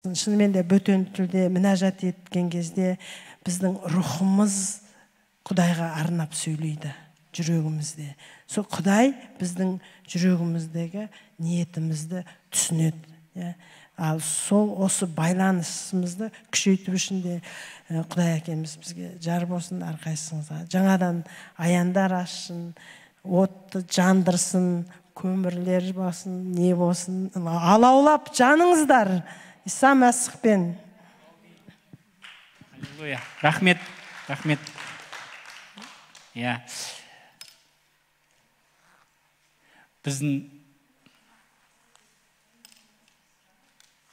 Шынымен де бөтен тілде мінәжат еткен кезде біздің рухымыз Құдайға арнап сөйлейді жүрегімізде. Сол Құдай біздің жүрегіміздегі ниетімізді түсінеді. Ал сол осы байланысымызды күшейту үшін де Құдай әкеміз бізге жар болсын, әрқайсыңызға жаңадан аяндар ашсын, отты жандырсын, көмірлер болсын, не болсын, алаулап жаныңыздар Иса Мәсіхпен. Аллилуйя. Рахмет.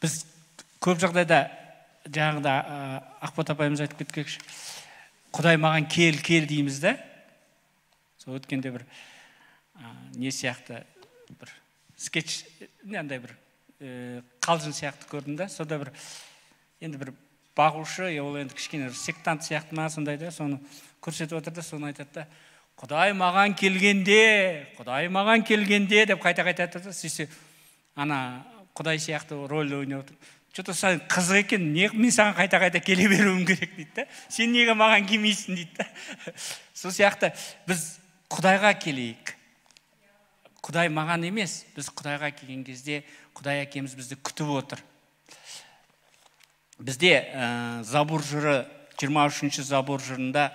Біз көп жағдайда жаңағыда Ақбат апайымыз айтып кеткенше, Құдай маған кел дейміз да. Сол өткенде бір не сияқты бір скетч, андай бір қалжың сияқты көрдім да. Сода бір енді бір бағушы, ол енді кішкене сектант сияқты ма сондай да, соны көрсетіп отыр да, соны айтады да, Құдай маған келгенде деп қайта айтады да, сөйтсе ана Құдай сияқты рөл ойнап отыр. Что-то сен қызық екен, мен саған қайта келе беруім керек дейді да. Сен неге маған келмейсің дейді да. Сол сияқты біз Құдайға келейік. Құдай маған емес, біз Құдайға келген кезде Құдай әкеміз бізді күтіп отыр. Бізде Забур жыры, 23-ші Забур жырында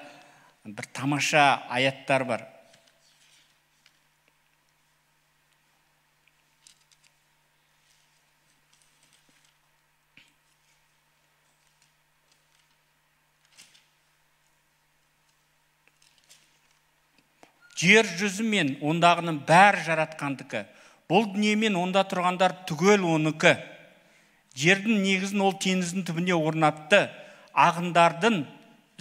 бір тамаша аяттар бар. Жер жүзі мен ондағының бәрі жаратқандікі. Бұл дүние мен онда тұрғандар түгел оныкі. Жердің негізін ол теңіздің түбіне орнатты. Ағындардың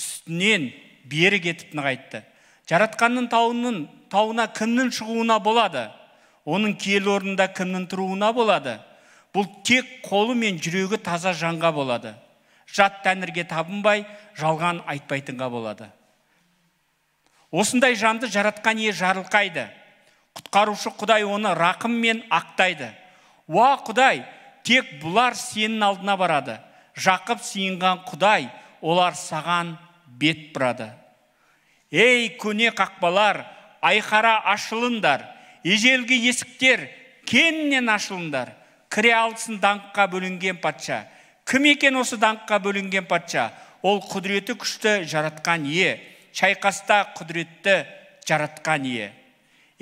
үстінен бері кетіп нығайтты. Жаратқанның тауына кімнің шығуына болады? Оның киелі орнында кімнің тұруына болады? Бұл тек қолы мен жүрегі таза жанға болады. Жат тәңірге табынбай, жалған айтпайтынға болады. Осындай жанды жаратқан ие жарылқайды. Құтқарушы Құдай оны рақыммен ақтайды. Уа Құдай, тек бұлар сенің алдына барады. Жақып сиынған Құдай, олар саған бет бұрады. Ей, көне қақпалар, айқара ашылындар. Ежелгі есіктер, кеңінен ашылындар. Кіре алсын даңққа бөлінген патша. Кім екен осы даңққа бөлінген патша? Ол құдіреті күшті жаратқан ие. Шайқаста құдіретті жаратқан ие.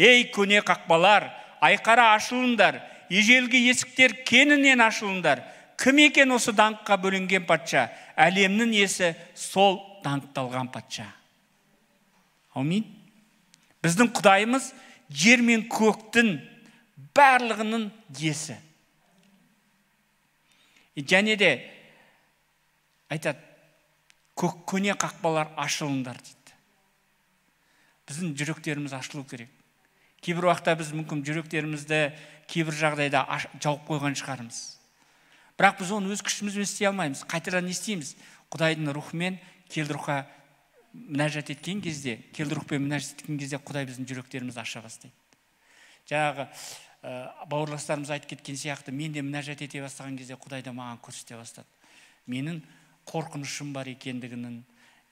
Ей, көне қақпалар, айқара ашылындар. Ежелгі есіктер кеңінен ашылындар. Кім екен осы даңққа бөлінген патша? Әлемнің иесі сол даңқталған патша. Аумин. Біздің Құдайымыз жер мен көктің барлығының иесі. Және де айтады, көне қақпалар ашылындар дейді. Біздің жүректеріміз ашылу керек. Кейбір уақытта біз мүмкін жүректерімізді кейбір жағдайда жауып қойған шығармыз. Бірақ біз оны өз күшімізбен істей алмаймыз. Қайтадан не істейміз? Құдайдың рухымен келді рухқа мінәжат еткен кезде, Құдай біздің жүректерімізді аша бастайды. Жаңағы бауырластарымыз айтып кеткен сияқты, мен де мінәжат ете бастаған кезде Құдай да маған көрсете бастады. Менің қорқынышым бар екендігінің,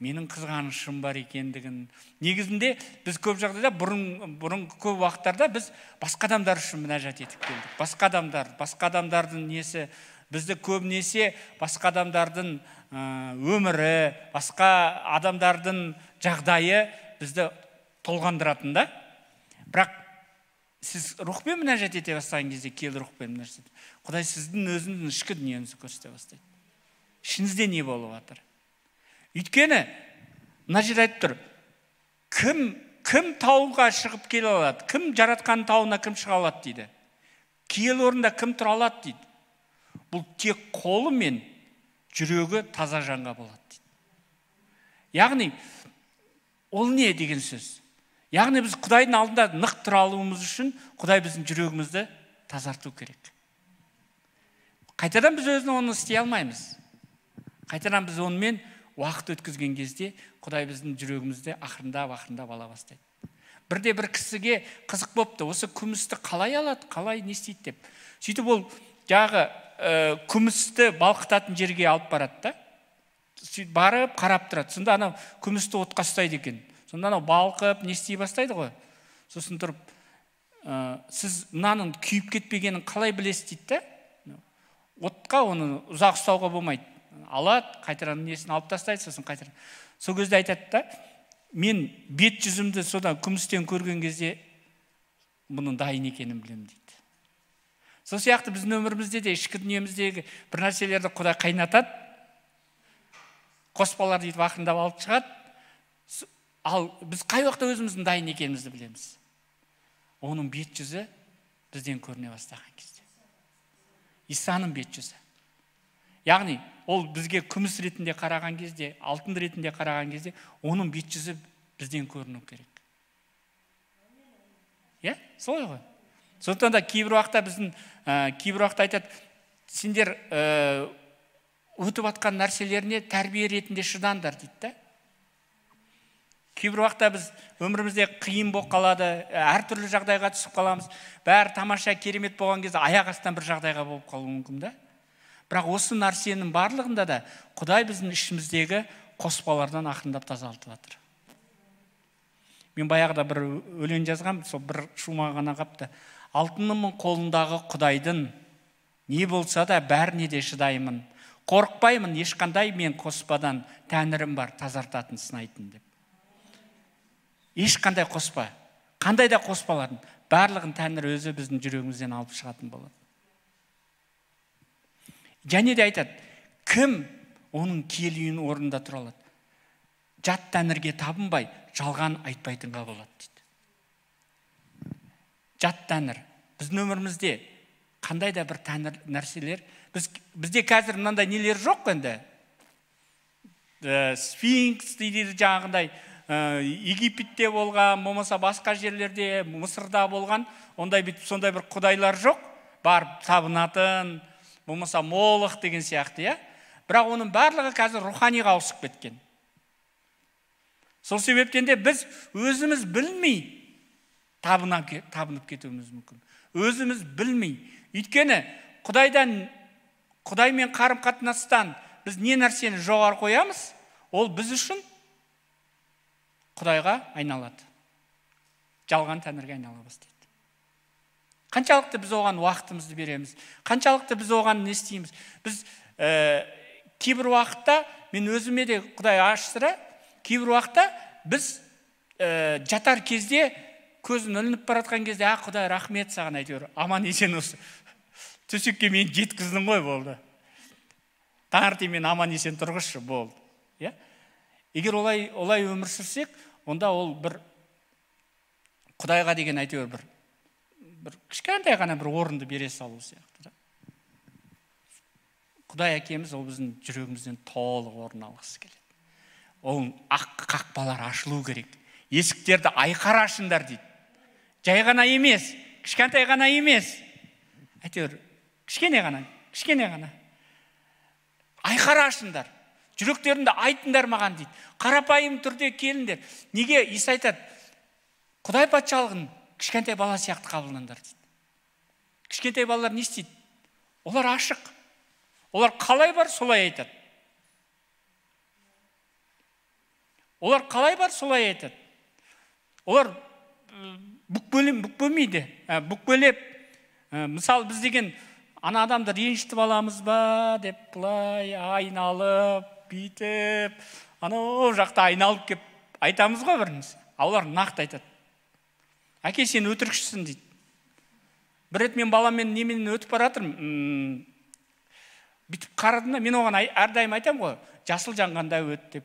менің қызғанышым бар екендігін. Негізінде біз көп жағдайда бұрын көп уақыттарда біз басқа адамдар үшін мінәжат етіп келдік. Басқа адамдардың несі, бізді көбінесе басқа адамдардың өмірі, басқа адамдардың жағдайы бізді толғандыратын да. Бірақ сіз рухпен мінәжат ете бастаған кезде, келді рухпен мінәжат ете. Құдай сіздің өзіңіздің ішкі дүниеңізді көрсете бастайды. Ішіңізде не болып жатыр? Өйткені, мына жер айтып тұр, кім тауға шығып келе алады? Кім жаратқан тауына кім шыға алады дейді? Киелі орында кім тұра алады дейді? Бұл тек қолы мен жүрегі таза жанға болады дейді. Яғни, ол не деген сөз? Яғни біз Құдайдың алдында нық тұра алуымыз үшін Құдай біздің жүрегімізді тазарту керек. Қайтадан біз өзін оны істей алмаймыз. Қайтадан біз онымен уақыт өткізген кезде Құдай біздің жүрегімізде ақырындап ала бастайды. Бір кісіге қызық болыпты, осы күмісті қалай алады, қалай не істейді деп. Сөйтіп ол жағы күмісті балқытатын жерге алып барады да. Сөйтіп барып қарап тұрады. Сонда анау күмісті отқа ұстайды екен. Сонда анау балқып не істей бастайды ғой. Сосын тұрып, сіз мынаның күйіп кетпегенін қалай білесіз дейді да. Отқа оны ұзақ ұстауға болмайды. Алады, қайтадан несін алып тастайды, сосын қайтадан. Сол кезде айтады да, мен бет жүзімді содан күмістен көрген кезде бұның дайын екенін білемін дейді. Сол сияқты біздің өмірімізде де, ішкі дүниеміздегі бір нәрселерді Құдай қайнатады, қоспалар дейді ақырындап алып шығады. Ал біз қай уақытта өзіміздің дайын екенімізді білеміз. Оның бет жүзі бізден көріне бастаған кезде. Исаның бет жүзі. Яғни, ол бізге күміс ретінде қараған кезде, алтын ретінде қараған кезде, оның бет жүзі бізден көріну керек. Солай ғой. Сондықтан да кейбір уақытта айтады, сендер өтіп атқан нәрселеріне тәрбие ретінде шыдаңдар дейді да. Кейбір уақытта біз өмірімізде қиын болып қалады, әртүрлі жағдайға түсіп қаламыз. Бәрі тамаша, керемет болған кезде аяқ астынан бір жағдайға болып қалуы мүмкін да. Бірақ осы нәрсенің барлығында да Құдай біздің ішіміздегі қоспалардан ақырындап тазартып жатыр. Мен баяғыда бір өлең жазғам, сол бір шума ғана қапты. Алтынымын қолындағы Құдайдың, не болса да бәріне де шыдаймын. Қорықпаймын ешқандай мен қоспадан, тәңірім бар тазартатын сынайтын деп. Ешқандай қоспа, қандай да қоспалардың барлығын Тәңір өзі біздің жүрегімізден алып шығатын болады. Және де айтады, кім оның киелі үйінің орнында тұра алады? Жат Тәңірге табынбай, жалған айтпайтынға болады дейді. Жат Тәңір. Біздің өмірімізде қандай да бір Тәңір нәрселер, бізде қазір мынандай нелер жоқ енді. Сфинкс дейді жаңағындай, Египетте болған, болмаса басқа жерлерде, Мысырда болған, сондай бір құдайлар жоқ, барып табынатын, болмаса Молох деген сияқты, бірақ оның барлығы қазір руханиға ауысып кеткен. Сол себептен де біз өзіміз білмей табынып кетуіміз мүмкін. Өзіміз білмей. Өйткені Құдаймен қарым-қатынастан біз не нәрсені жоғары қоямыз, ол біз үшін Құдайға айналады. Жалған Тәңірге айнала бастайды. Қаншалықты біз оған уақытымызды береміз, қаншалықты біз оған не істейміз. Біз кейбір уақытта, мен өзіме де Құдай ашсыра, кейбір уақытта біз жатар кезде, көзін ілініп баратқан кезде, Құдай рахмет саған әйтеуір, аман есен осы. Төсекке мен жеткіздің ғой болды. Таңертең мен аман есен тұрғызшы болды. Егер олай өмір сүрсек, онда ол бір Құдайға деген әйтеуір бір кішкентай ғана бір орынды бере салу сияқты. Құдай әкеміз ол біздің жүрегімізден толық орын алғысы келеді. Ол ақ қақпалар ашылу керек. Есіктерді айқара ашыңдар дейді. Жай ғана емес, кішкентай ғана емес. Әйтеуір кішкене ғана. Айқара ашыңдар. Жүректерінде айтыңдар маған дейді. Қарапайым түрде келіңдер. Неге Иса айтады? Құдай патшалығын кішкентай бала сияқты қабылдаңдар дейді. Кішкентай балалар не істейді? Олар ашық. Олар қалай бар, солай айтады. Олар бүкпөлмейді. Бүкпөлеп, мысалы біз деген ана адамды ренжітіп аламыз ба деп бұлай айналып, бүйтіп, анау жақта айналып кеп айтамыз ғой біріміз. Олар нақты айтады. Әке, сен өтірікшісің дейді. Бір рет мен баламмен немен өтіп баратырмын. Бүйтіп қарадым да, мен оған әрдайым айтам ғой, жасыл жанғанда өт деп.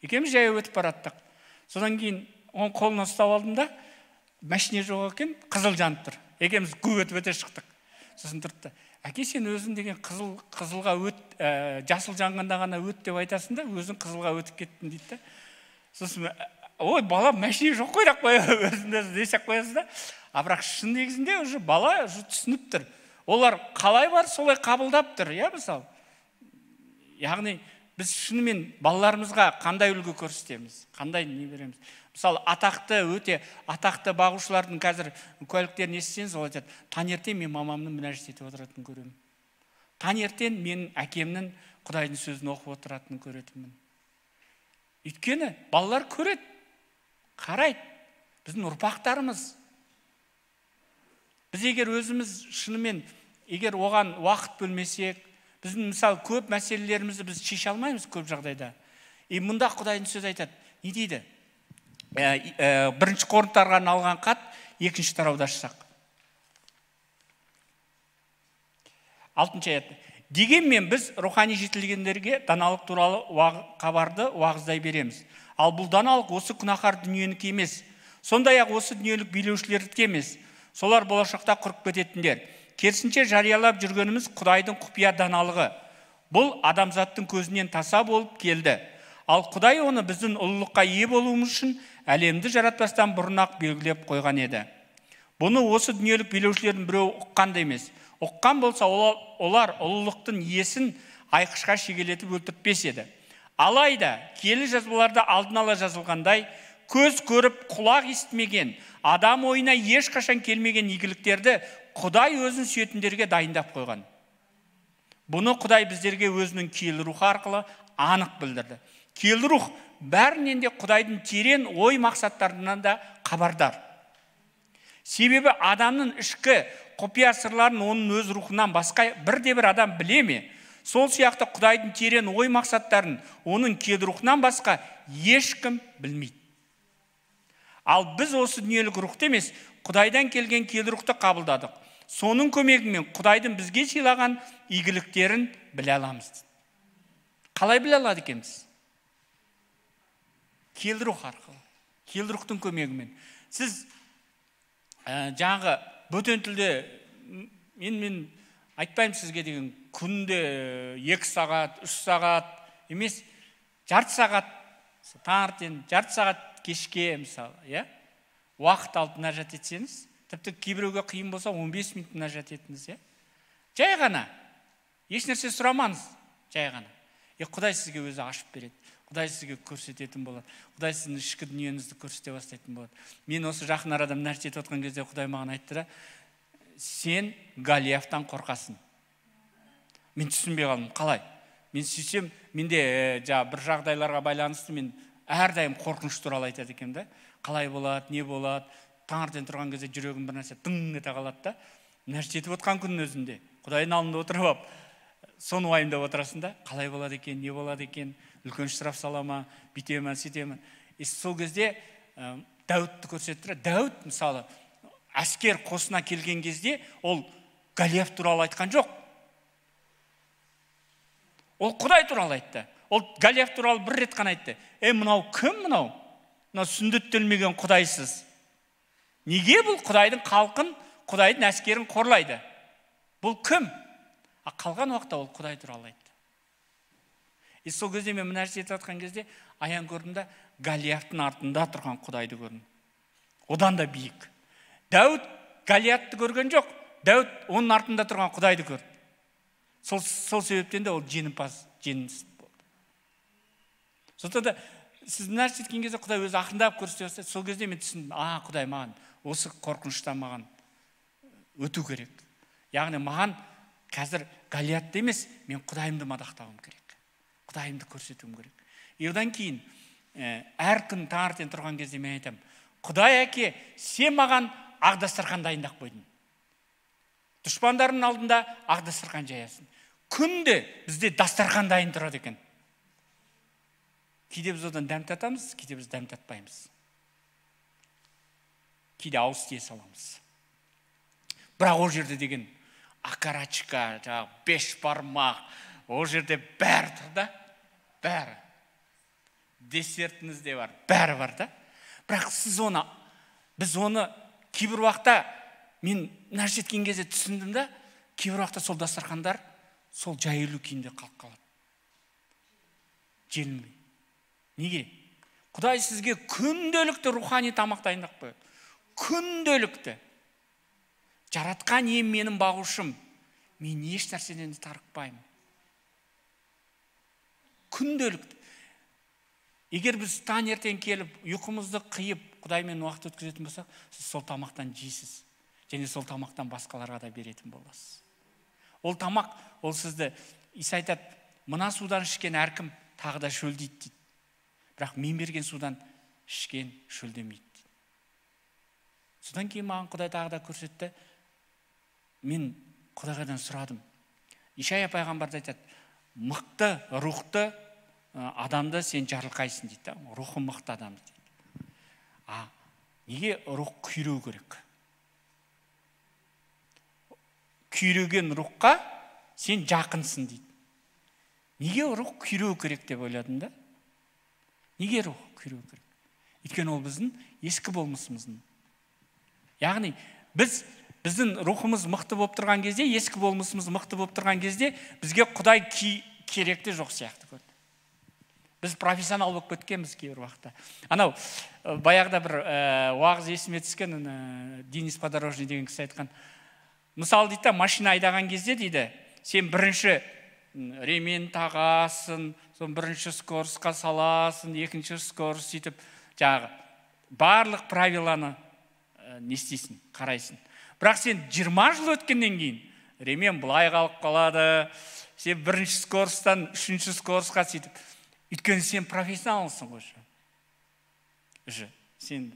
Екеуміз жай өтіп бараттық. Содан кейін оның қолына ұстап алдым да, машине жоқ екен, қызыл жанып тұр. Екеуміз өтіп өте шықтық. Сосын тұрды. Әке, сен өзің деген қызылға өт, жасыл жанғанда ғана өт деп айтасың да, өзің қызылға өтіп кеттің дейді. Сосын, ой, бала машине жоқ қойдақ қой, өзіңді десек қоясыз да. Бірақ шын негізінде уже бала түсініп тұр. Олар қалай бар, солай қабылдап тұр, мысалы. Яғни біз шынымен балаларымызға қандай үлгі көрсетеміз, қандай не береміз. Мысалы, өте атақты бағушылардың қазір куәліктерін естісеңіз, ол айтады, таңертең мен мамамның мінәжат етіп отыратынын көремін. Таңертең мен әкемнің Құдайдың сөзін оқып отыратынын көретінмін. Өйткені балалар көреді, қарайды. Біздің ұрпақтарымыз. Біз егер өзіміз шынымен, егер оған уақыт бөлмесек, біздің мысалы көп мәселелерімізді біз шеше алмаймыз көп жағдайда. Мұнда Құдайдың сөзі айтады. Не дейді? 1 Коринттарға арналған хат 2 тарауда ашсақ. 6 аят. Дегенмен біз рухани жетілгендерге даналық туралы хабарды уағыздай береміз. Ал бұл даналық осы күнәһар дүниенікі емес. Сондай-ақ осы дүниелік билеушілердікі емес. Солар болашақта құрып кететіндер. Керісінше жариялап жүргеніміз Құдайдың құпия даналығы. Бұл адамзаттың көзінен таса болып келді. Ал Құдай оны біздің ұлылыққа ие болуымыз үшін әлемді жаратпастан бұрын-ақ белгілеп қойған еді. Бұны осы дүниелік билеушілердің біреуі ұққан да емес. Ұққан болса, олар ұлылықтың иесін айқышқа шегелетіп өлтіртпес еді. Алайда, киелі жазбаларда алдын ала жазылғандай, көз көріп, құлақ естімеген, адам ойына ешқашан келмеген игіліктерді Құдай өзін сүйетіндерге дайындап қойған. Бұны Құдай біздерге өзінің киелі рухы арқылы анық білдірді. Киелі рух бәрінен де Құдайдың терең ой мақсаттарынан да хабардар. Себебі адамның ішкі құпия сырларын оның өз рухынан басқа бірде-бір адам біле ме? Сол сияқты Құдайдың терең ой мақсаттарын оның киелі рухынан басқа ешкім білмейді. Ал біз осы дүниелік рухты емес, Құдайдан келген киелі рухты қабылдадық. Соның көмегімен Құдайдың бізге сыйлаған игіліктерін біле аламыз. Қалай біле алады екенбіз? Киелі рух арқылы, киелі рухтың көмегімен. Сіз жаңағы бөтен тілде, мен айтпаймын сізге деген, күнде 2 сағат, 3 сағат емес, жарты сағат, таңертең, жарты сағат кешке, мысалы, уақыт алып мұнажат етсеңіз, тіпті кейбіреуге қиын болса 15 минут мұнажат етіңіз, жай ғана, еш нәрсе сұрамаңыз, жай ғана. Құдай сізге өзі ашып береді. Құдай сізге көрсететін болады. Құдай сіздің ішкі дүниеңізді көрсете бастайтын болады. Мен осы жақын арада нәрсе етіп отқан кезде Құдай маған айтты да, сен Голиафтан қорқасың. Мен түсінбей қалдым. Қалай? Мен сөйтсем, менде бір жағдайларға байланысты мен әрдайым қорқыныш туралы айтады екен да. Қалай болады, не болады? Таңертең тұрған кезде жүрегім бір нәрсе дың ете қалады да. Нәрсе етіп отқан күннің өзінде Құдайдың алдында отырып алып, соны уайымдап отырасың да, қалай болады екен, не болады екен, үлкен штраф сала ма, бүйте ме, сөйте ме. Сол кезде Дәуітті көрсеттіреді. Дәуіт мысалы әскер қосына келген кезде ол Голиаф туралы айтқан жоқ. Ол Құдай туралы айтты. Ол Голиаф туралы бір рет қана айтты. Мынау кім мынау? Мынау сүндеттелмеген Құдайсыз. Неге бұл Құдайдың халқын, Құдайдың әскерін қорлайды? Бұл кім? Қалған уақытта ол Құдай туралы айтты. Сол кезде мен нәрсе етіп жатқан кезде аян көрдім да, Голиафтың артында тұрған Құдайды көрдім. Одан да биік. Дәуіт Голиафты көрген жоқ. Дәуіт оның артында тұрған Құдайды көрді. Сол себептен де ол жеңімпаз болды. Сондықтан да сіз нәрсе еткен кезде Құдай өзі ақындап көрсете бастады. Сол кезде мен түсіндім, Құдай маған осы қорқыныштан маған өту керек. Яғни маған қазір Голиатты емес, мен Құдайымды мадақтауым керек. Құдайымды көрсетуім керек. Одан кейін әр күн таңертең тұрған кезде мен айтамын, Құдай әке, сен маған ақ дастархан дайындап қойдың. Дұшпандарының алдында ақ дастархан жаясың. Күнде бізде дастархан дайын тұрады екен. Кейде біз одан дәм татамыз, кейде біз дәм татпаймыз. Кейде ауыз тие саламыз. Бірақ ол жерде деген акарачка, 5 бармақ, ол жерде бәрі тұр да, бәрі. Десертіңіз де бар, бәрі бар да. Бірақ біз оны кейбір уақытта, мен нәрсе еткен кезде түсіндім да, кейбір уақытта сол дастархандар сол жайылу күйінде қалып қалады. Желінбей. Неге? Құдай сізге күнделікті рухани тамақ дайындап қояды. Күнделікті. Жаратқан ием менің бағушым. Мен еш нәрседен тарықпаймын. Күнделікті. Егер біз таңертең келіп, ұйқымызды қиып, Құдаймен уақыт өткізетін болсақ, сіз сол тамақтан жейсіз. Және сол тамақтан басқаларға да беретін боласыз. Ол тамақ, ол сізді, Иса айтады, мына судан ішкен әркім тағы да шөлдейді дейді. Бірақ мен берген судан ішкен шөлдемейді дейді. Содан кейін маған Құдай тағы да көрсетті. Мен Құдайдан сұрадым. Ишая пайғамбар айтады, мықты рухты адамды сен жарылқайсың дейді. Рухы мықты адамды дейді. Неге рух күйреу керек? Күйреген рухқа сен жақынсың дейді. Неге рух күйреу керек деп ойладым да? Неге рух күйреу керек? Өйткені ол біздің ескі болмысымыздың. Яғни біздің рухымыз мықты болып тұрған кезде, ескі болмысымыз мықты болып тұрған кезде, бізге Құдай керекті жоқ сияқты көрді. Біз профессионал болып кеткенбіз кейбір уақытта. Анау баяғыда бір уағыз есіме түскен, Денис Подорожный деген кісі айтқан. Мысалы дейді, машина айдаған кезде дейді, сен бірінші ремень тағасың, сон бірінші скоростьқа саласың, екінші скорость сөйтіп, жаңағы барлық правиланы не істейсің, қарайсың. Бірақ сен 20 жыл өткеннен кейін ремень былай қалып қалады, сен бірінші скоростьтан үшінші скоростьқа сөйтіп. Өйткені сен профессионалсың ғой. Сен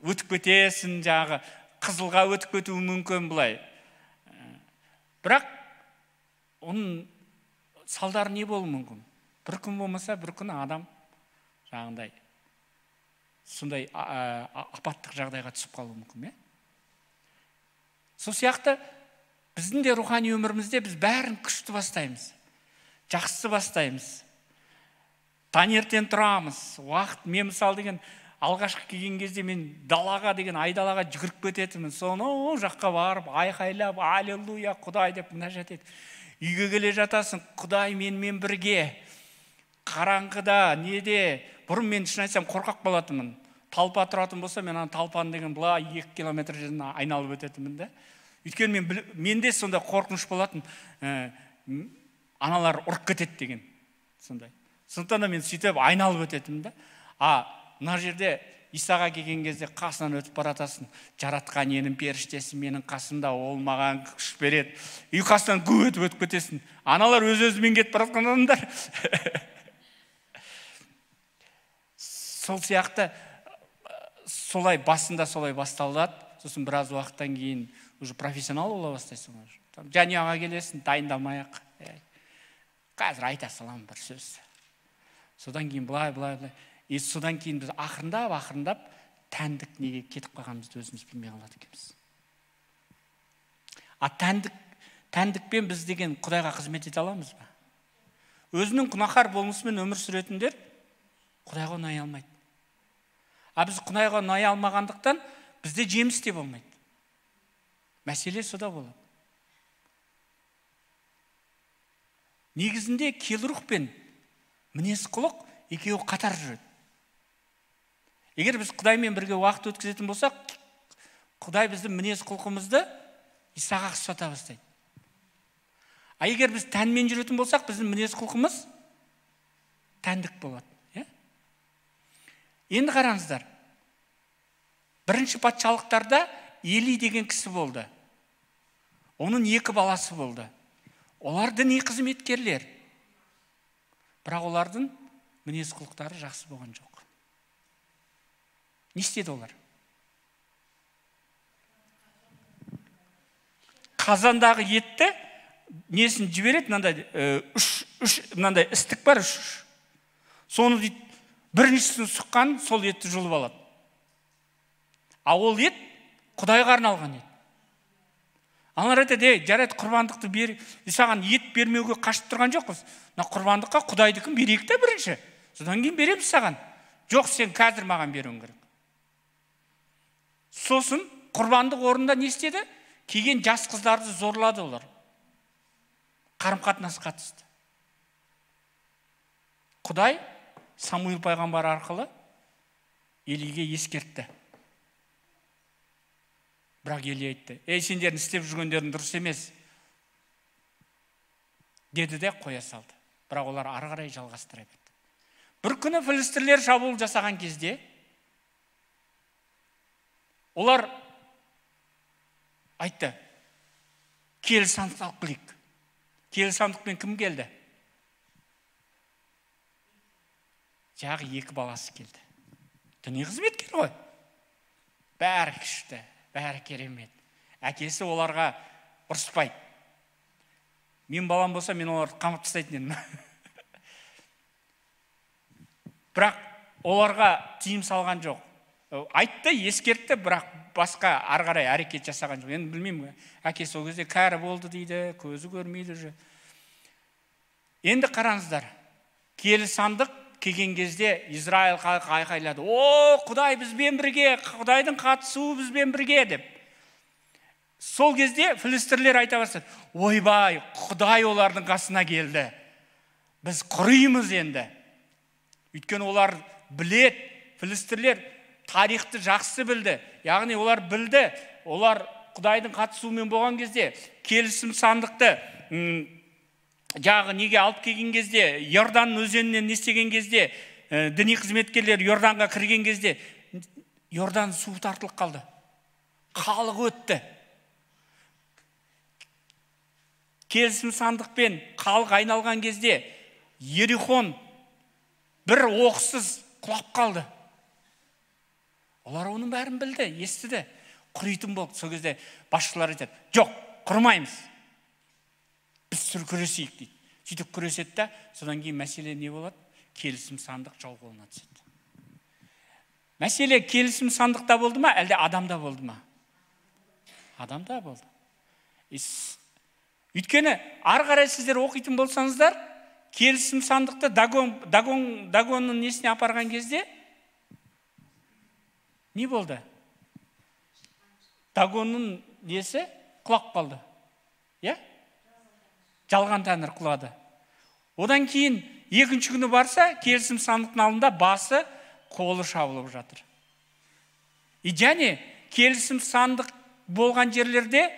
өтіп кетесің, жаңағы қызылға өтіп кетуі мүмкін бұлай. Бірақ оның салдары не болуы мүмкін? Бір күн болмаса, бір күн адам жаңағындай сондай апаттық жағдайға түсіп қалуы мүмкін. Сол сияқты біздің де рухани өмірімізде біз бәрін күшті бастаймыз, жақсы бастаймыз. Таңертең тұрамыз, уақыт, мен мысалы деген алғашқы келген кезде мен далаға деген айдалаға жүгіріп кететінмін. Соны жаққа барып, айқайлап, аллилуйя, Құдай деп мінәжат етіп. Үйге келе жатасың, Құдай менімен бірге. Қараңғыда, неде, бұрын мен шын айтсам қорқақ болатынмын. Талпа тұратын болса, мен талпаны деген бұла 2 километр жерден айналып өтетінмін да. Өйткені менде сонда қорқыныш болатын, аналар ұрып кетеді деген. Сондай. Сондықтан да мен сөйтіп айналып өтетім да. Мына жерде Исаға келген кезде қасынан өтіп баратасың. Жаратқан енім періштесі менің қасымда, ол маған күш береді. Үй қасынан өтіп кетесің. Аналар өз-өзімен кетіп баратқан адамдар. Сол сияқты солай басында солай басталады. Сосын біраз уақыттан кейін уже профессионал бола бастайсың. Жанұяға келесің, дайындалмай-ақ. Қазір айта салам бір сөз. Содан кейін былай. Содан кейін біз ақырындап тәндік неге кетіп қалғанымызды өзіміз білмей қалады екенбіз. Тәндікпен біз деген Құдайға қызмет ете аламыз ба? Өзінің күнәһар болмысымен өмір сүретіндер Құдайға ұнай алмайды. Біз Құдайға ұнай алмағандықтан бізде жеміс те болмайды. Мәселе сода болады. Негізінде келрух пен мінез құлық екеуі қатар жүреді. Егер біз Құдаймен бірге уақыт өткізетін болсақ, Құдай біздің мінез құлқымызды Исаға ұқсата бастайды. Егер біз тәнмен жүретін болсақ, біздің мінез құлқымыз тәндік болады. Енді қараңыздар. Бірінші патшалықтарда Eli деген кісі болды. Оның 2 баласы болды. Олар діни қызметкерлер. Бірақ олардың мінез құлықтары жақсы болған жоқ. Не істеді олар? Қазандағы етті несін жібереді, мынандай істік бар, 3. Соны дейді, біріншісін сұққан сол етті жұлып алады. Ол ет Құдайға арналған ет. Аналар айтады, жарайды, құрбандықты бер, саған ет бермеуге қашып тұрған жоқпыз. Құрбандыққа Құдайдікін берейік те бірінші. Содан кейін береміз саған. Жоқ, сен қазір маған беруің керек. Сосын құрбандық орнында не істеді? Келген жас қыздарды зорлады олар. Қарым-қатынас қатысты. Құдай Самуил пайғамбар арқылы Елиге ескертті. Бірақ Eli айтты, сендердің істеп жүргендерің дұрыс емес. Деді де қоя салды. Бірақ олар ары қарай жалғастыра берді. Бір күні филистерлер шабуыл жасаған кезде олар айтты, киелі сандықты алып келейік. Киелі сандықпен кім келді? Жағы 2 баласы келді. Діни қызметкер ғой. Бәрі күшті, бәрі керемет. Әкесі оларға ұрыспайды. Мен балам болса, мен оларды қамап тастайтын едім. Бірақ оларға тыйым салған жоқ. Айтты, ескертті, бірақ басқа ары қарай әрекет жасаған жоқ. Енді білмеймін, әкесі ол кезде кәрі болды дейді, көзі көрмейді уже. Енді қараңыздар, киелі сандық келген кезде Израиль халқы айқайлады: "О, Құдай бізбен бірге, Құдайдың қатысуы бізбен бірге" деп. Сол кезде филистерлер айта бастады: "Ойбай, Құдай олардың қасына келді. Біз құрыймыз енді." Өйткені олар білет, филистерлер тарихты жақсы білді. Яғни олар білді, олар Құдайдың қатысуымен болған кезде, келісім сандықты жағы неге алып келген кезде, Иордан өзенінен не істеген кезде, діни қызметкерлер Иорданға кірген кезде, Иордан суы тартылып қалды. Халық өтті. Келісім сандықпен халық айналған кезде, Ерихон бір оқсыз құлап қалды. Олар оның бәрін білді, естіді. Құрайтын болды. Сол кезде басшылар айтады: "Жоқ, құрмаймыз. Біз күресейік" дейді. Сөйтіп күреседі да, содан кейін мәселе не болады? Келісім сандық жау қолына түседі. Мәселе келісім сандықта болды ма, әлде адамда болды ма? Адамда болды. Өйткені ары қарай сіздер оқитын болсаңыздар, келісім сандықты Дагонның несіне апарған кезде не болды? Дагонның несі құлап қалды. Жалған тәңір құлады. Одан кейін екінші күні барса, келісім сандықтың алдында басы, қолы шабылып жатыр. Және келісім сандық болған жерлерде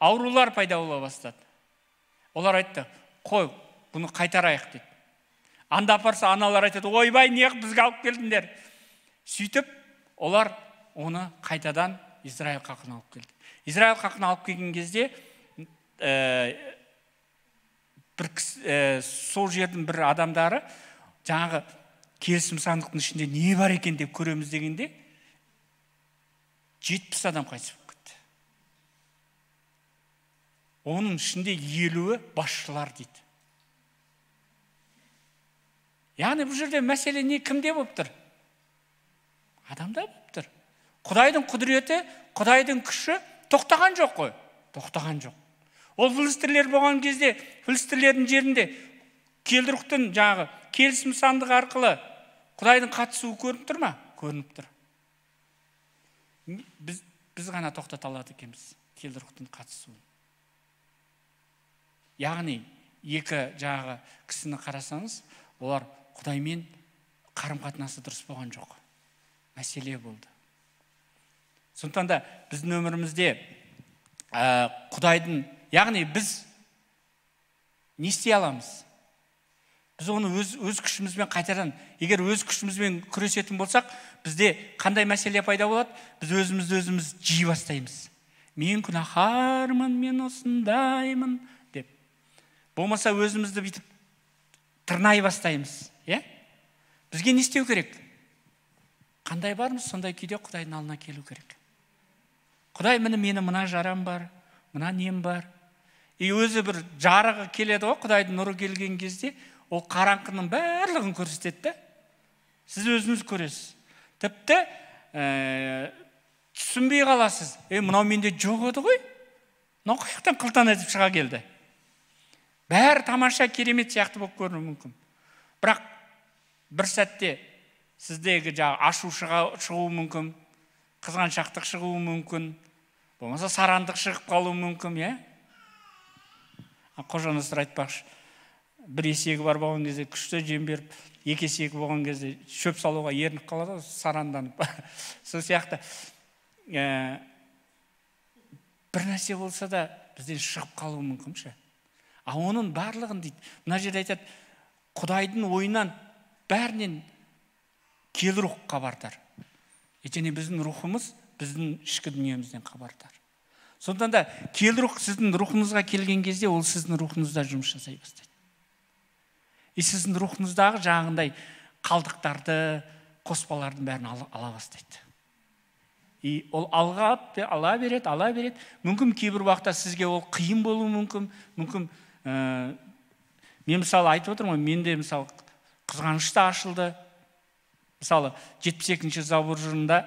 аурулар пайда бола бастады. Олар айтты: "Қой, бұны қайтарайық" дейді. Анда апарса, аналар айтады: "Ойбай, неғып бізге алып келдіңдер?" Сөйтіп, олар оны қайтадан Израиль халқына алып келді. Израиль халқына алып келген кезде, сол жердің бір адамдары жаңағы келісім сандықтың ішінде не бар екен деп көреміз дегенде 70 адам қайтыс болып кетті. Оның ішінде 50-і басшылар дейді. Яғни бұл жерде мәселе не, кімде болып тұр? Адамда болып тұр. Құдайдың құдіреті, Құдайдың күші тоқтаған жоқ қой. Тоқтаған жоқ. Ол филистерлер болған кезде, филистерлердің жерінде келдірықтың жағы келісім сандығы арқылы Құдайдың қатысуы көрініп тұр ма? Көрініп тұр. Біз ғана тоқтата алады екенбіз келдірықтың қатысуын. Яғни екі жағы кісіні қарасаңыз, олар Құдаймен қарым-қатынасы дұрыс болған жоқ. Мәселе болды. Сондықтан да біздің өмірімізде Құдайдың, яғни біз не істей аламыз? Біз оны өз күшімізбен қайтадан, егер өз күшімізбен күресетін болсақ, бізде қандай мәселе пайда болады? Біз өзіміз жей бастаймыз. Мен күнәһармын, мен осындаймын деп. Болмаса өзімізді бүйтіп тырнай бастаймыз. Бізге не істеу керек? Қандай бармыз, сондай күйде Құдайдың алдына келу керек. Құдай, мені мына жарам бар, мына нем бар. Өзі бір жарығы келеді ғой, Құдайдың нұры келген кезде, ол қараңғының барлығын көрсетеді. Сіз өзіңіз көресіз. Тіпті түсінбей қаласыз. Мынау менде жоқ еді ғой. Мынау қаяқтан қылтан етіп шыға келді. Бәрі тамаша, керемет сияқты болып көрінуі мүмкін. Бірақ бір сәтте сіздегі ашу шығуы мүмкін, қызғаншақтық шығуы мүмкін, болмаса сарандық шығып қалуы мүмкін. Қожа Насыр айтпақшы, бір есегі бар болған кезде күшті жем беріп, екі есегі болған кезде шөп салуға ерініп қалады, саранданып. Сол сияқты бір нәрсе болса да бізден шығып қалуы мүмкін ше. Оның барлығын дейді, мына жерде айтады, Құдайдың ойынан бәрінен кел рух хабардар. Және біздің рухымыз біздің ішкі дүниемізден хабардар. Сондықтан да киелі рух сіздің рухыңызға келген кезде ол сіздің рухыңызда жұмыс жасай бастайды. И сіздің рухыңыздағы жаңағындай қалдықтарды, қоспалардың бәрін ала бастайды. И ол ала береді. Мүмкін кейбір уақытта сізге ол қиын болуы мүмкін. Мен мысалы айтып отырмын, менде мысалы қызғаныш та ашылды. Мысалы 72-ші забурында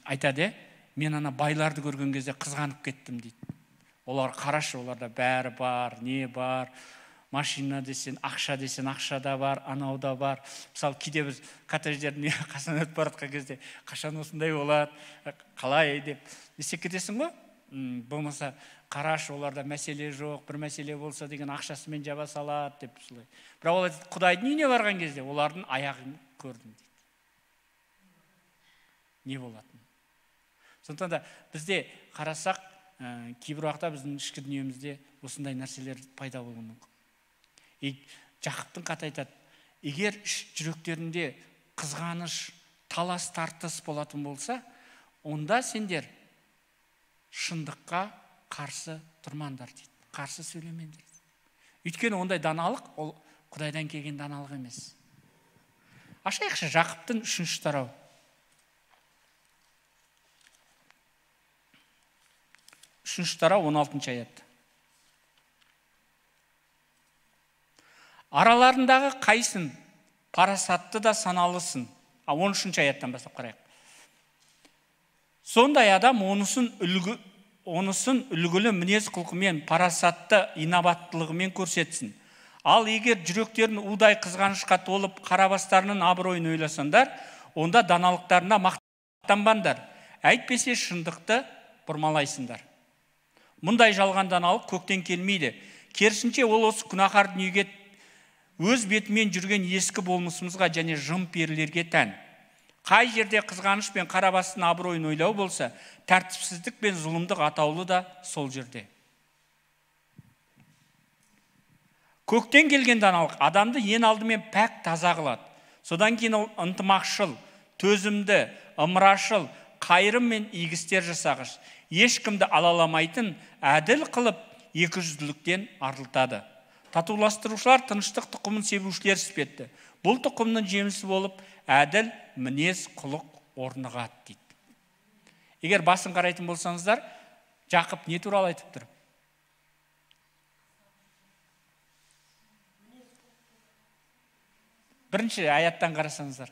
айтады, мен ана байларды көрген кезде қызғанып кеттім дейді. Олар қарашы, оларда бәрі бар, не бар, машина десен, ақша десен, ақша да бар, анау да бар. Мысалы кейде біз коттедждердің қасынан өтіп бара жатқан кезде қашан осындай болады, қалай деп есеп кетесің ғой. Болмаса қарашы, оларда мәселе жоқ, бір мәселе болса деген ақшасымен жаба салады деп солай. Бірақ олар Құдайдың үйіне барған кезде олардың аяғын көрдім дейді. Не болатын? Сондықтан да бізде қарасақ, кейбір уақытта біздің ішкі дүниемізде осындай нәрселер пайда болуы мүмкін. Жақыптың хаты айтады, егер жүректерінде қызғаныш, талас тартыс болатын болса, онда сендер шындыққа қарсы тұрмаңдар дейді, қарсы сөйлемеңдер. Өйткені ондай даналық, ол Құдайдан келген даналық емес. Ашайықшы Жақыптың 3-ші тарауы. 3-ші тарау 16-шы аят. Араларындағы қайсын парасатты да саналысын. 13-ші аяттан бастап қарайық. Сондай адам онысын үлгілі мінез құлқымен, парасатты инабаттылығымен көрсетсін. Ал егер жүректерін удай қызғанышқа толып, қарабастарының абыройын ойласаңдар, онда даналықтарына мақтанбаңдар. Әйтпесе шындықты бұрмалайсыңдар. Мұндай жалған даналық көктен келмейді. Керісінше ол осы күнәһар дүниеге, өз бетімен жүрген ескі болмысымызға және жын перілерге тән. Қай жерде қызғаныш пен қарабастың абыройын ойлау болса, тәртіпсіздік пен зұлымдық атаулы да сол жерде. Көктен келген даналық адамды ең алдымен пәк таза қылады. Содан кейін ол ынтымақшыл, төзімді, ымырашыл, қайырым мен игістер жасағыш, ешкімді алаламайтын, әділ қылып, екіжүзділіктен арылтады. Татуластырушылар тыныштық тұқымын себушілер іспетті. Бұл тұқымның жемісі болып, әділ мінез құлық орнығады дейді. Егер басын қарайтын болсаңыздар, Жақып не туралы айтып тұр? Бірінші аяттан қарасаңыздар.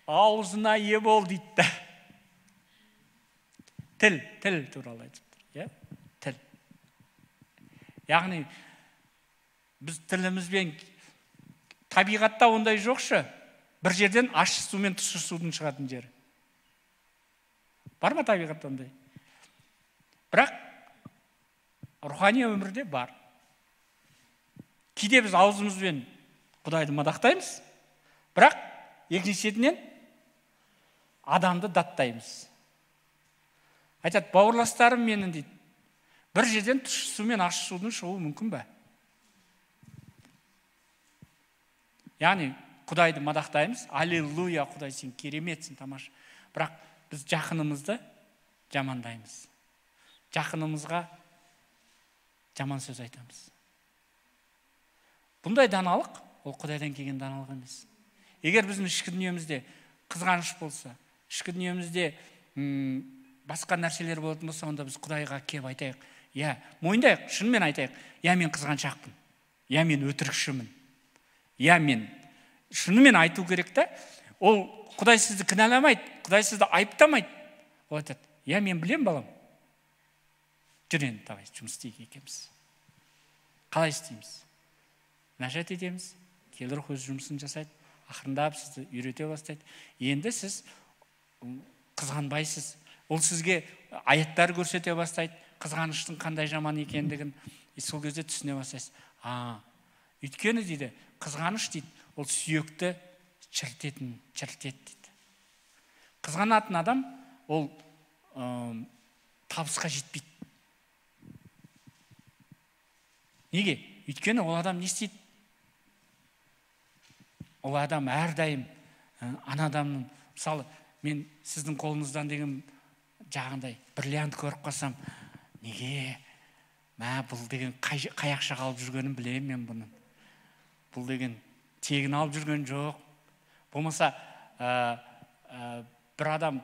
Аузына ие бол дейді. Тіл туралы айтып тұр. Тіл. Яғни, біз тілімізбен табиғатта ондай жоқшы. Бір жерден ащы су мен тұщы судың шығатын жері. Бар ма табиғатта ондай? Бірақ рухани өмірде бар. Кейде біз аузымызбен Құдайды мадақтаймыз, бірақ екіншісінен адамды даттаймыз. Айтады, бауырластарым менің дейді, бір жерден тұщы су мен ащы судың шығуы мүмкін бе? Яғни, Құдайды мадақтаймыз, аллилуйя, Құдай сен кереметсің, тамаша. Бірақ біз жақынымызды жамандаймыз. Жақынымызға жаман сөз айтамыз. Бұндай даналық, ол Құдайдан келген даналық емес. Егер біздің ішкі дүниемізде қызғаныш болса, ішкі дүниемізде басқа нәрселер болатын болса, онда біз Құдайға кеп айтайық. Мойындайық, шынымен айтайық. Мен қызғаншақпын. Мен өтірікшімін. Мен шынымен айту керек та. Ол Құдай сізді кінәламайды, Құдай сізді айыптамайды. Ол айтады, мен білем балам. Жүрен, давай, жұмыс істейік екеміз. Қалай істейміз? Нәжат етеміз, келі рух өз жұмысын жасайды, ақырындап сізді үйрете бастайды. Енді сіз қызғанбайсыз. Ол сізге аяттар көрсете бастайды, қызғаныштың қандай жаман екендігін, сол кезде түсіне бастайсыз. Өйткені дейді, қызғаныш дейді, ол сүйекті шірітеді дейді. Қызғанатын адам, ол табысқа жетпейді. Неге? Өйткені ол адам не істейді? Ол адам әрдайым ана адамның, мысалы, мен сіздің қолыңыздан деген жағындай бриллиант көріп қалсам, неге? Бұл деген қай ақша алып жүргенін білемін мен бұның. Бұл деген тегін алып жүрген жоқ. Болмаса бір адам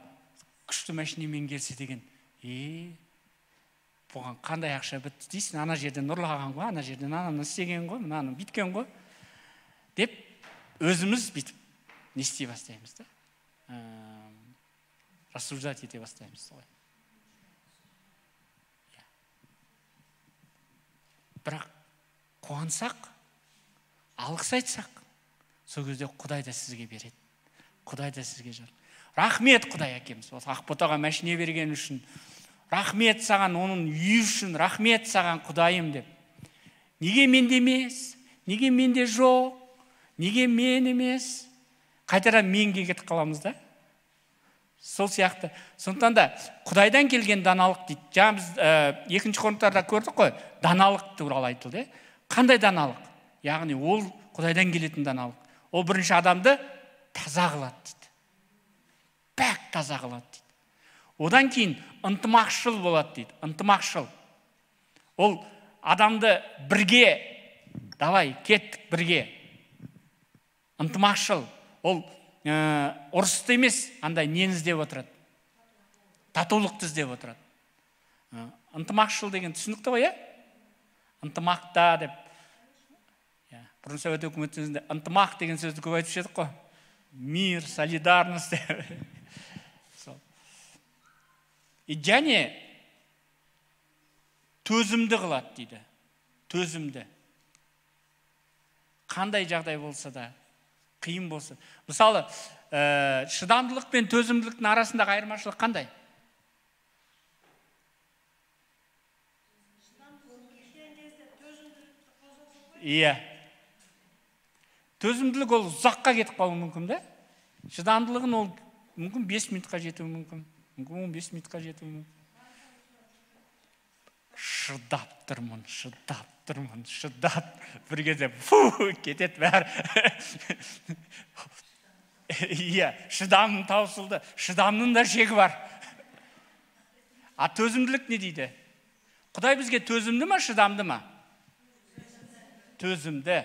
күшті машинамен келсе деген, бұған қандай ақша бітті дейсің, ана жерден ұрлаған ғой, ана жерден ананы істеген ғой, мынаны бүйткен ғой деп өзіміз бүйтіп не істей бастаймыз да, рассуждать ете бастаймыз ғой. Бірақ қуансақ, алғыс айтсақ, сол кезде Құдай да сізге береді. Құдай да сізге жар. Рахмет Құдай әкеміз, Ақботаға машина берген үшін. Рахмет саған, оның үйі үшін, рахмет саған Құдайым деп. Неге менде емес? Неге менде жоқ? Неге мен емес? Қайтадан менге кетіп қаламыз да? Сол сияқты. Сондықтан да Құдайдан келген даналық дейді. Жаңа біз 2 Коринтарда көрдік қой, даналық туралы айтылды. Қандай даналық? Яғни ол Құдайдан келетін даналық. Ол бірінші адамды таза қылады дейді. Пәк таза қылады дейді. Одан кейін ынтымақшыл болады дейді. Ынтымақшыл. Ол адамды бірге, давай, кеттік бірге. Ынтымақшыл. Ол ұрысты емес, андай нені іздеп отырады? Татулықты іздеп отырады. Ынтымақшыл деген түсінікті ғой, ынтымақта деп. Бұрын Совет өкіметінде ынтымақ деген сөзді көп айтып едік қой. Мир, солидарность. Және төзімді қылады дейді. Төзімді. Қандай жағдай болса да, қиын болса. Мысалы, шыдамдылық пен төзімділіктің арасындағы айырмашылық қандай? Иә. Төзімділік ол ұзаққа кетіп қалуы мүмкін да? Шыдамдылығын ол мүмкін 5 минутқа жетуі мүмкін. Мүмкін 15 минутқа жетуі мүмкін. Шыдап тұрмын. Бір кезде кетет бәрі. Иә, шыдамым таусылды. Шыдамның да шегі бар. А төзімділік не дейді? Құдай бізге төзімді ма, шыдамды ма? Төзімді.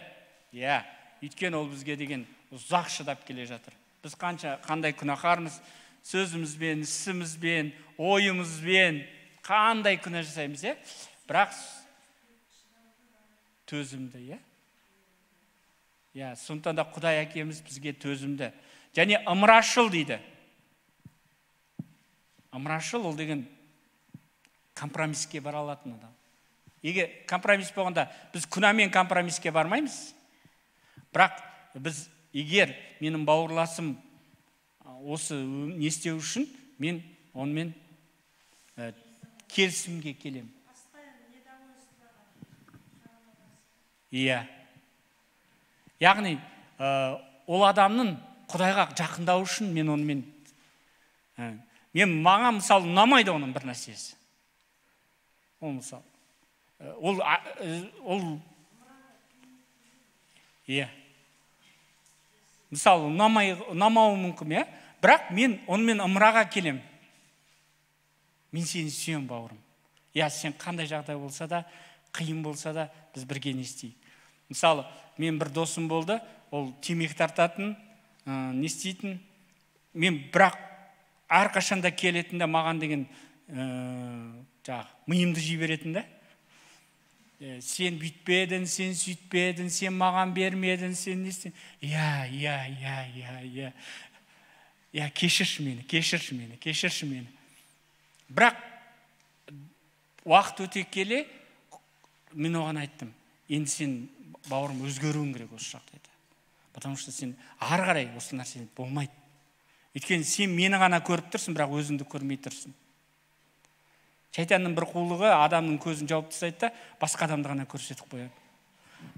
Иә, өйткені ол бізге деген ұзақ шыдап келе жатыр. Біз қандай күнәһармыз, сөзімізбен, ісімізбен, ойымызбен қандай күнә жасаймыз, бірақ төзімді, сондықтан да Құдай әкеміз бізге төзімді. Және ымырашыл дейді. Ымырашыл ол деген компромиске бара алатын адам. Егер компромис болғанда, біз күнәмен компромиске бармаймыз. Бірақ біз егер менің бауырласым осы не істеу үшін, мен онымен келісімге келем. Иә. Яғни, ол адамның Құдайға жақындау үшін мен онымен, маған мысалы ұнамайды оның бір нәрсесі. Ол мысалы, мысалы, ұнамауы мүмкін, бірақ мен онымен ымыраға келем. Мен сені сүйем, бауырым. Сен қандай жағдай болса да, қиын болса да, біз бірге не істейік. Мысалы, мен бір досым болды, ол темекі тартатын, не істейтін. Мен бірақ әрқашанда келетінде маған деген миымды жіберетін да. Сен бүйтпедің, сен сөйтпедің, сен маған бермедің, сен не істедің. Кешірші мені. Бірақ уақыт өте келе, мен оған айттым, енді сен бауырым өзгеруің керек осы жағдайда. Потому что сен ары қарай осы нәрсе болмайды. Өйткені сен мені ғана көріп тұрсың, бірақ өзіңді көрмей тұрсың. Шайтанның бір қулығы адамның көзін жауып тастайды да, басқа адамды ғана көрсетіп қояды.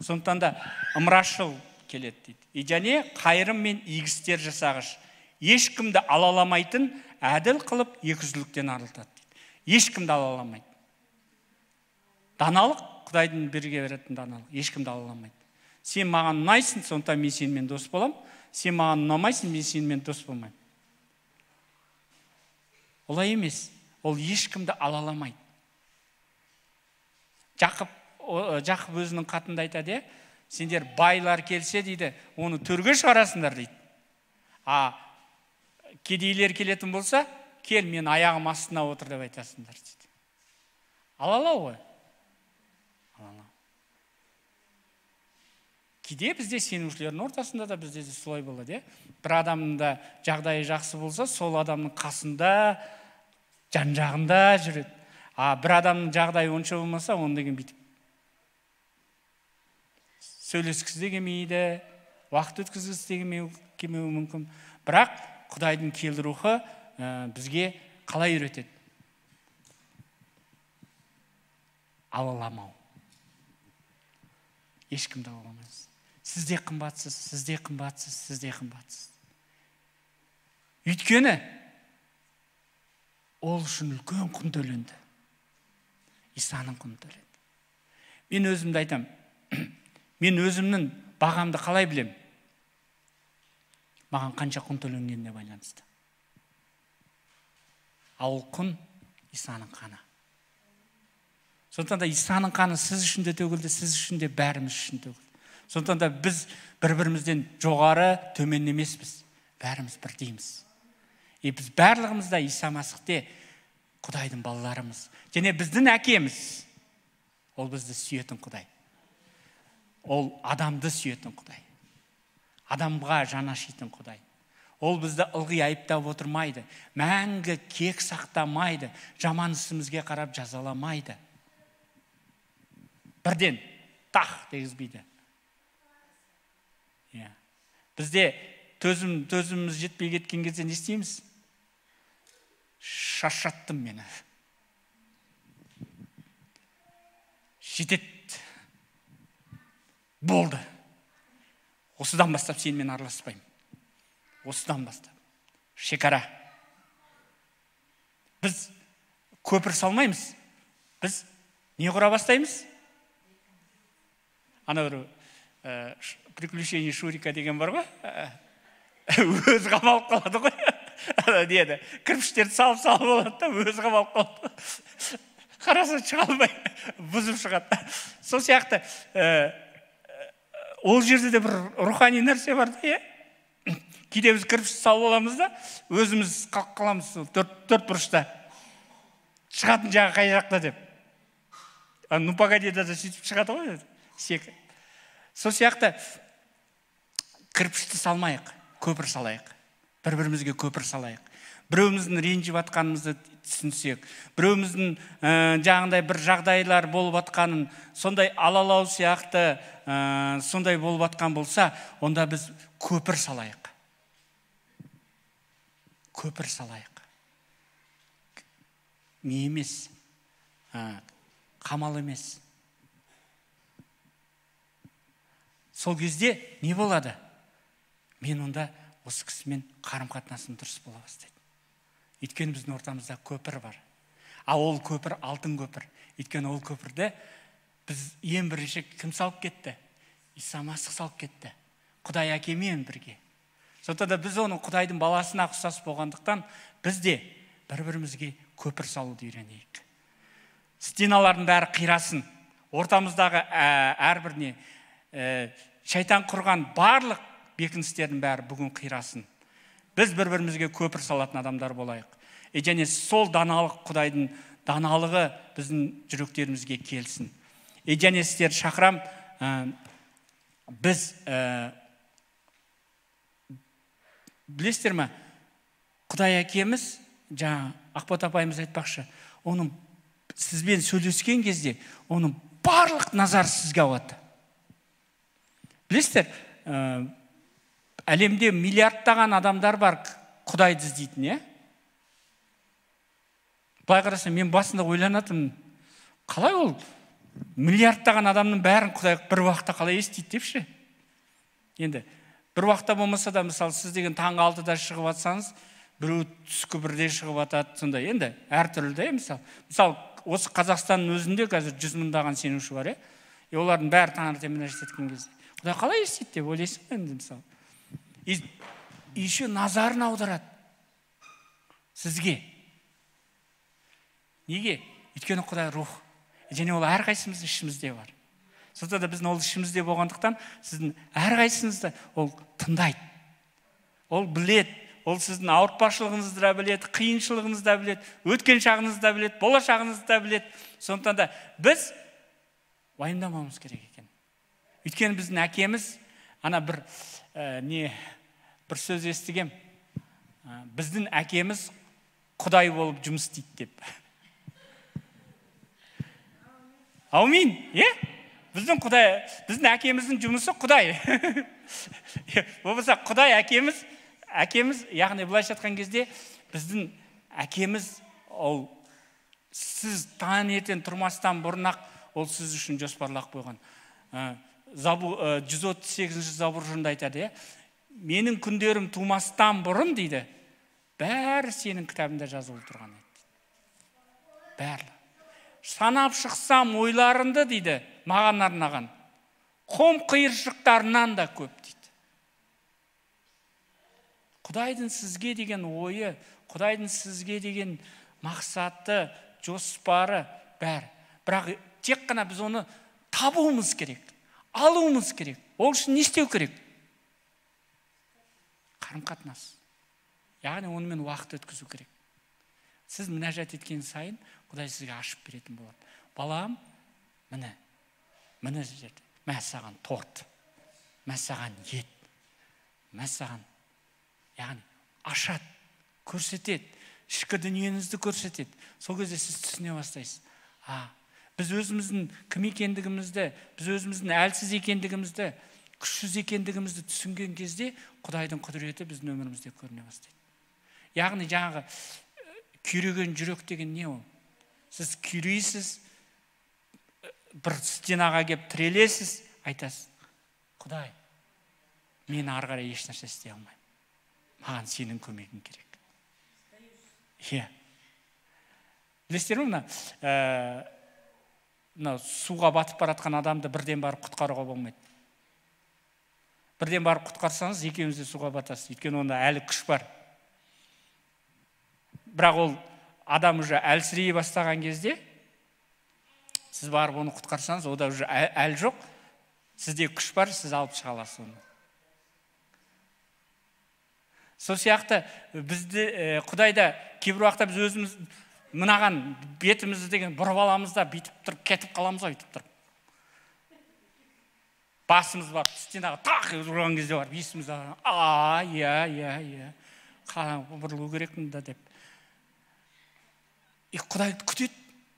Сондықтан да ымырашыл келеді дейді. Және қайырым мен игістер жасағыш. Ешкімді алаламайтын, әділ қылып екіжүзділіктен арылтады дейді. Ешкімді алаламайды. Даналық, Құдайдың берге беретін даналық. Ешкімді алаламайды. Сен маған ұнайсың, сондықтан мен сенімен дос болам. Сен маған ұнамайсың, мен сенімен дос болмаймын. Олай емес. ол ешкімді алаламайды. Жақып өзінің қатында айтады, сендер байлар келсе дейді, оны төрге шығарасыңдар дейді. Кедейлер келетін болса, кел, мен аяғым астына отыр деп айтасыңдар дейді. Алалау ғой. Кейде бізде сенушілердің ортасында да бізде де солай болады. Бір адамның да жағдайы жақсы болса, сол адамның қасында, жан-жағында жүреді. Бір адамның жағдайы онша болмаса, оны деген бүйтіп сөйлескісі де келмейді, уақыт өткізгісі де келмеуі мүмкін. Бірақ Құдайдың келді рухы бізге қалай үйретеді? Алаламау. Ешкімді алаламайсыз. Сіз де қымбатсыз, сіз де қымбатсыз, сіз де қымбатсыз. Өйткені ол үшін үлкен құн төленді. Исаның құны төленді. Мен өзімді айтам. Мен өзімнің бағамды қалай білем? Маған қанша құн төленгеніне байланысты. Ал құн Исаның қаны. Сондықтан да Исаның қаны сіз үшін де төгілді, сіз үшін де бәріміз үшін төгілді. Сондықтан да біз бір-бірімізден жоғары, төмен емеспіз. Бәріміз бірдейміз. Біз барлығымыз да Иса Масихте Құдайдың балаларымыз. Және біздің әкеміз. Ол бізді сүйетін Құдай. Ол адамды сүйетін Құдай. Адамға жан ашитын Құдай. Ол бізді ылғи айыптап отырмайды. Мәңгі кек сақтамайды. Жаман ісімізге қарап жазаламайды. Бірден тақ дегізбейді. Бізде төзіміміз жетпей кеткен кезде не істейміз? Шаршаттым мені. Жетет. Болды. Осыдан бастап сенімен араласпаймын. Осыдан бастап. Шекара. Біз көпір салмаймыз. Біз не құра бастаймыз? Ана бір приключение Шурика деген бар ғой? Өзі қамалып қалады ғой. Деді, кірпіштерді салып болады да, өзі қамалып қалады. Қараса шыға алмай, бұзып шығады. Сол сияқты ол жерде де бір рухани нәрсе бар да, кейде біз кірпішті салып аламыз да, өзіміз қаламыз төрт бұрышта. Шығатын жағы қай жақта деп. Ну погоди да сөйтіп шығады ғой. Сол сияқты кірпішті салмайық, көпір салайық. Бір-бірімізге көпір салайық. Біреуіміздің ренжіп атқанымызды түсінсек, біреуіміздің жағындай бір жағдайлар болып атқанын, сондай алалау сияқты сондай болып атқан болса, онда біз көпір салайық. Көпір салайық. Не емес, қамал емес. Сол кезде не болады? Мен онда осы кісімен қарым-қатынасым дұрыс бола бастайды. Өйткені біздің ортамызда көпір бар. Ол көпір алтын көпір. Өйткені ол көпірді біз ең бірінші кім салып кетті? Иса Масих салып кетті. Құдай әкемен бірге. Сондықтан да біз оның Құдайдың баласына ұқсас болғандықтан біз де бір-бірімізге көпір салуды үйренейік. Стеналардың бәрі қирасын. Ортамыздағы әрбіріне шайтан құрған барлық бекіністердің бәрі бүгін қирасын. Біз бір-бірімізге көпір салатын адамдар болайық. Және сол даналық, Құдайдың даналығы біздің жүректерімізге келсін. Және сіздер шақырам, біз білесіздер ме, Құдай әкеміз, жаңа Ақбот апайымыз айтпақшы, оның сізбен сөйлескен кезде, оның барлық назар сізге ауады. Білесіздер, әлемде миллиардтаған адамдар бар Құдайды іздейтін, Былай қараса, мен басында ойланатым, қалай ол миллиардтаған адамның бәрін Құдай бір уақытта қалай естиді депші? Енді бір уақытта болмаса да, мысалы, сіз деген таңғы 6-да шығып атсаңыз, біреу түскі 1-де шығып атады, сондай. Енді әртүрлі де, мысалы, осы Қазақстанның өзінде қазір 100 мыңдаған сенуші бар, олардың бәрі таңертең еткен кезде. Құдай қалай естиді деп ойлайсың енді, мысалы. Еще назарын аударады сізге. Неге? Өйткені Құдай рух. Және ол әрқайсымыздың ішімізде бар. Сондықтан да біздің ол ішімізде болғандықтан, сіздің әрқайсыңызды ол тыңдайды. Ол білет, ол сіздің ауыртпашылығыңызды да білет, қиыншылығыңызды да білет, өткен шағыңызды да білет, болашағыңызды да білет. Сондықтан да біз уайымдамауымыз керек екен. Өйткені біздің әкеміз, ана бір сөз естігем. Біздің әкеміз Құдай болып жұмыс істейді деп. Аумин, біздің әкеміздің жұмысы Құдай. Болмаса Құдай әкеміз, яғни былайша айтқан кезде, біздің әкеміз, ол сіз таңертең тұрмастан бұрын-ақ ол сіз үшін жоспарлап қойған. 138 забуржында айтады, менің күндерім тумастан бұрын дейді, бәрі сенің кітабында жазылып тұрған еді. Бәрі. Санап шықсам ойларынды дейді, маған арнаған. Қом қиыршықтарынан да көп дейді. Құдайдың сізге деген ойы, Құдайдың сізге деген мақсаты, жоспары бәрі. Бірақ тек қана біз оны табуымыз керек, алуымыз керек. Ол үшін не істеу керек? Қарым-қатынас. Яғни онымен уақыт өткізу керек. Сіз мінәжат еткен сайын Құдай сізге ашып беретін болады. Балам, міне жерде, мә саған торт, мә саған ет, мә саған, яғни ашады, көрсетеді, ішкі дүниеңізді көрсетеді. Сол кезде сіз түсіне бастайсыз. Біз өзіміздің кім екендігімізді, біз өзіміздің әлсіз екендігімізді, күшсіз екендігімізді түсінген кезде Құдайдың құдіреті біздің өмірімізде көріне бастайды. Яғни жаңағы күйреген жүрек деген не ол? Сіз күйрейсіз, бір стенаға кеп тірелесіз, айтасыз, Құдай, мен ары қарай ешнәрсе істей алмаймын. Маған сенің көмегің керек. Білесіздер ме, суға батып баратқан адамды бірден барып құтқаруға болмайды. Бірден барып құтқарсаңыз, екеуіңіз де суға батасыз. Өйткені онда әлі күш бар. Бірақ ол адам уже әлсірей бастаған кезде, сіз барып оны құтқарсаңыз, ода уже әл жоқ, сізде күш бар, сіз алып шыға аласыз оны. Сол сияқты бізді Құдайда кейбір уақытта біз өзіміз мынаған бетімізді деген бұрып аламыз да, бүйтіп тұрып кетіп қаламыз ғой, бүйтіп тұрып. Басымыз бар, стенаға тақ ұрған кезде бар, есіміз бұрылу керекпін да деп. Құдай күтеді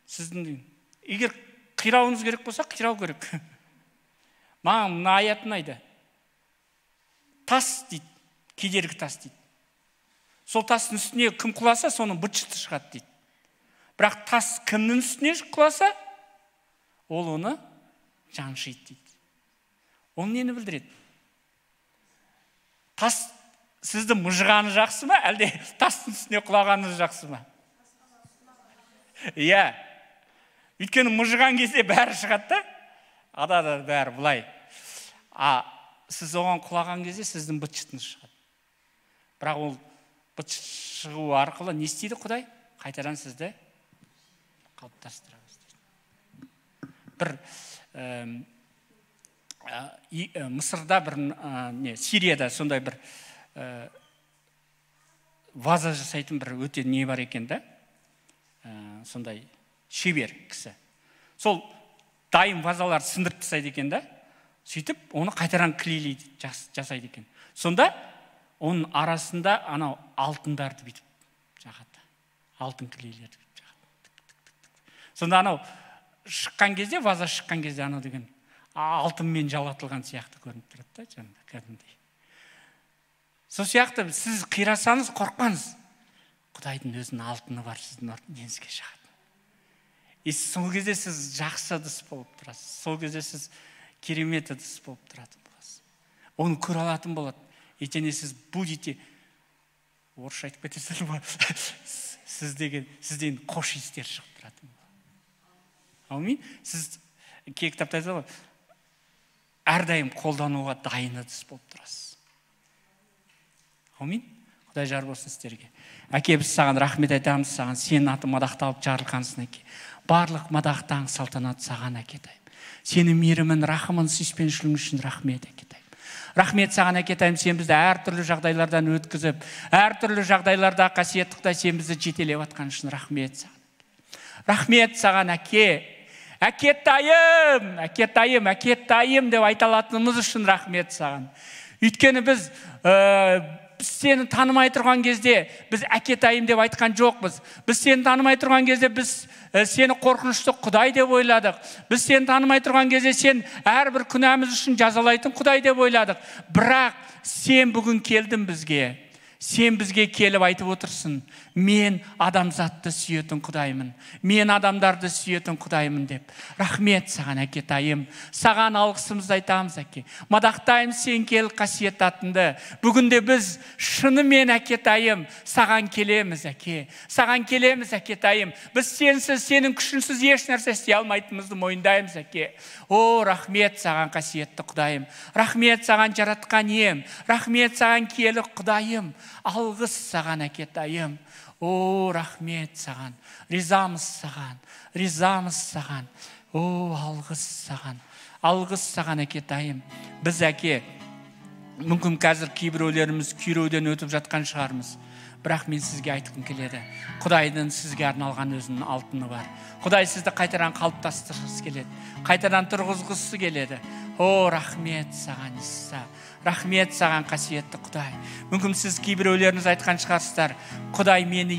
сіздің. Егер қирауыңыз керек болса, қирау керек. Маған мына аят ұнайды. Тас дейді, кедергі тас дейді. Сол тастың үстіне кім құласа, соның быт-шыты шығады дейді. Бірақ тас кімнің үстіне құласа, ол оны жаншиды дейді. Ол нені білдіреді? Тас сізді мұжғаны жақсы ма, әлде тастың үстіне құлағаны жақсы ма? Өйткені мұжған кезде бәрі шығады да, адада бәрі бұлай. Сіз оған құлаған кезде сіздің быт-шытыңыз шығады. Бірақ ол быт-шыт шығу арқылы не істейді Құдай? Қайтадан сізді қалыптастыра бастайды. Мысырда Сирияда сондай бір ваза жасайтын бір өте не бар екен да, сондай шебер кісі. Сол дайын вазалар сындырып тастайды екен да, сөйтіп оны қайтаран клейлейді, жасайды екен. Сонда оның арасында анау алтындарды бүйтіп жағады, алтын клейлерді жағады. Сонда анау шыққан кезде, ваза шыққан кезде анау деген алтынмен жалатылған сияқты көрініп тұрады да, жаңында кәдімгідей. Сол сияқты сіз қирасаңыз, қорықпаңыз. Құдайдың өзінің алтыны бар сіздің деніңізге шығады. Сол кезде сіз жақсы ыдыс болып тұрасыз. Сол кезде сіз керемет ыдыс болып тұратын боласыз. Оны көре алатын болады. Ертең сіз будете, орысша айтып кетесіз ба? Сізден қош иістер шығып тұратын болады. Аумин. Сіз кей кітапта айтады ғой, әрдайым қолдануға дайын ыдыс болып тұрасыз. Аумин. Құдай жар болсын сіздерге. Әке, біз саған рахмет айтамыз, саған сенің атың мадақталып жарылқансын, әке. Барлық мадақтаң салтанат саған, әкетайым. Сенің мейірімін, рахымын, сүйіспеншілігің үшін рахмет, әкетайым. Рахмет саған, әкетайым, сен бізді әртүрлі жағдайлардан өткізіп, әртүрлі жағдайларда қасиетті Құдай, сен бізді жетелеп атқан үшін рахмет саған. Рахмет саған, әке. Әкетайым, әкетайым, әкетайым деп айта алатынымыз үшін рахмет саған. Өйткені біз сені танымай тұрған кезде біз әкетайым деп айтқан жоқпыз. Біз сені танымай тұрған кезде біз сені қорқынышты Құдай деп ойладық. Біз сені танымай тұрған кезде сен әрбір күнәміз үшін жазалайтын Құдай деп ойладық. Бірақ сен бүгін келдің бізге. Сен бізге келіп айтып отырсың, мен адамзатты сүйетін Құдаймын, мен адамдарды сүйетін Құдаймын деп. Рахмет саған, әкетайым. Саған алғысымызды айтамыз, әке. Мадақтаймыз сен келіп қасиетті атыңды. Бүгінде біз шынымен, әкетайым, саған келеміз, әке. Саған келеміз, әкетайым. Біз сенсіз, сенің күшінсіз еш нәрсе істей алмайтынымызды мойындаймыз, әке. О, рахмет саған, қасиетті Құдайым. Рахмет саған, жаратқан ием. Рахмет саған, киелі Құдайым. Алғыс саған, әкетайым. О, рахмет саған. Ризамыз саған. Ризамыз саған. О, алғыс саған. Алғыс саған, әкетайым. Біз, әке, мүмкін қазір кейбіреулеріміз күйреуден өтіп жатқан шығармыз. Бірақ мен сізге айтқым келеді. Құдайдың сізге арналған өзінің алтыны бар. Құдай сізді қайтадан қалыптастырғысы келеді. Қайтадан тұрғызғысы келеді. О, рахмет саған, Иса. Рахмет саған, қасиетті Құдай. Мүмкін сіз кейбіреулеріңіз айтқан шығарсыздар. Құдай мені